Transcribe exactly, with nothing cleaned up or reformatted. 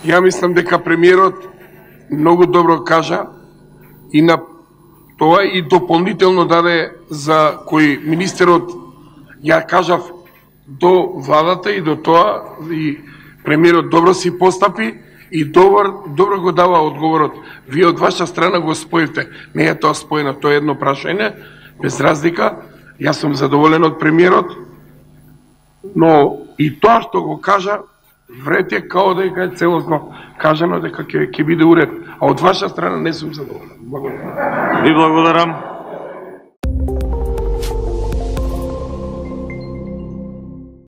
Ја мислам дека премиерот многу добро кажа и на тоа и дополнително даде за кој министерот ја кажав до владата и до тоа и премиерот добро си постапи и добро, добро го дава одговорот. Вие од ваша страна го споивте. Не е тоа споено, тоа е едно прашање, без разлика. Јас сум задоволен од премиерот, но и тоа што го кажа, врете као дека е целосно кажано дека ќе ќе биде уред, а од ваша страна не сум задоволен. Благодарам. Ви благодарам.